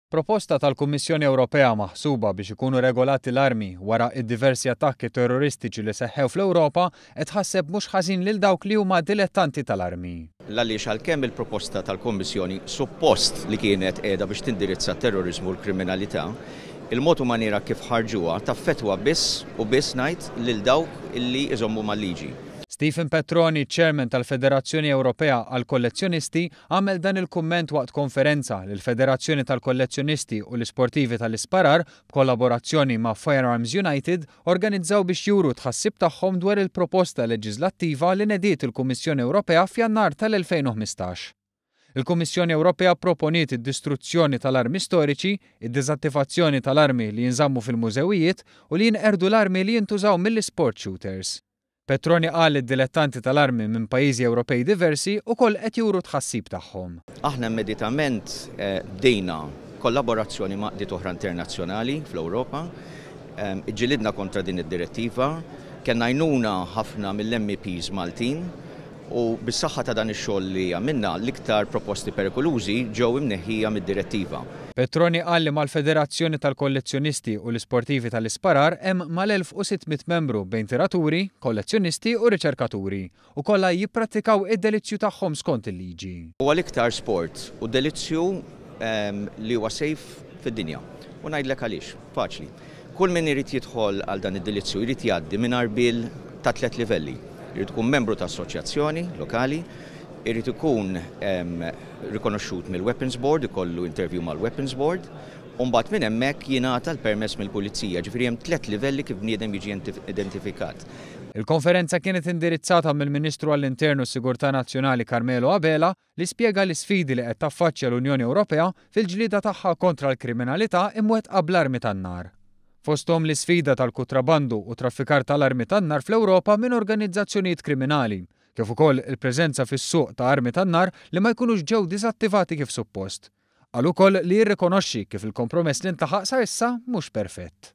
Proposta tal-Kummissjoni Ewropea maħsuba biex ikunu regolati l-armi wara id-diversi attakki terroristiċi li seħħew fl-Ewropa qed tħasseb mhux ħażin lil dawk li huma dilettanti tal-armi. L-għaliex għalkemm il-proposta tal-Kommissjoni suppost li kienet qiegħda biex tindirizza t-terroriżmu u l-kriminalità, il-mod u maniera kif ħarġuha taffettwa biss u biss ngħid lil dawk illi iżommu mal-liġi. Stephen Petroni, Chairman tal-Federazzjoni Ewropea għall-Kollezzjonisti, għamel dan il-kumment waqt konferenza li l-Federazzjoni tal-Kollezzjonisti u l-Isportivi tal-Isparar, b'kollaborazzjoni ma' Firearms United, organizzaw biex juru t-tħassib tagħhom dwar il-proposta leġiżlattiva li nediet il-Kummissjoni Ewropea f'Jannar tal-2015. Il-Kummissjoni Ewropea pproponiet id-distruzzjoni tal-armi storiċi, id-diżattivazzjoni tal-armi li jinżammu fil-mużewijiet u li jinqerdu l-armi li jintużaw mill-isport shooters. Petroni qal li d-dilettanti tal-armi minn pajjiżi Ewropej diversi wkoll qed juru t-tħassib tagħhom. Aħna immeditament bdejna kollaborazzjoni ma' għaqdiet oħra internazzjonali fl-Ewropa. Iġġilidna kontra din id-direttiva. Kellna għajnuna ħafna mill-MEPs Maltin u bis-saħħa ta' dan ix-xogħol li għamilna, l-iktar proposti perikolużi ġew imneħħija mid-direttiva. Petroni qal li mal-Federazzjoni tal-Kollezzjonisti u l-Isportivi tal-Isparar hemm mal-1,600 membru bejn tiraturi, kollezzjonisti u riċerkaturi, u kollha jipprattikaw id-delizzju tagħhom skont il-liġi. Huwa l-iktar sport u delizzju li huwa safe fid-dinja. U ngħidlek għaliex. Faċli. Kull min irid jidħol għal dan id-delizzju jrid jgħaddi minn għarbiel ta' tliet livelli. Irid ikun membru ta' assoċjazzjoni lokali, irid ikun rikonoxxut mill-Weapons Board, ikollu interview mal-Weapons Board, u mbagħad minn hemmhekk jingħata l-permess mill-pulizija. Ġifieri hemm tliet livelli kif bniedem jiġi identifikat. Il-konferenza kienet indirizzata mill-Ministru għall-Intern u s-Sigurtà Nazzjonali Carmelo Abela li spjega l-isfidi li qed taffaċċja l-Unjoni Ewropea fil-ġlieda tagħha kontra l-kriminalità imwettqa bl-armi tan-nar. Fosthom l-isfida tal-kutrabandu u traffikar tal-armi tan-nar fl-Ewropa minn organizzazzjonijiet kriminali, kif ukoll il-preżenza fis-suq ta' armi tan-nar li ma jkunux ġew diżattivati kif suppost. Qal ukoll li jirrikonoxxi kif il-kompromess li ntlaħaq sa issa mhux perfett.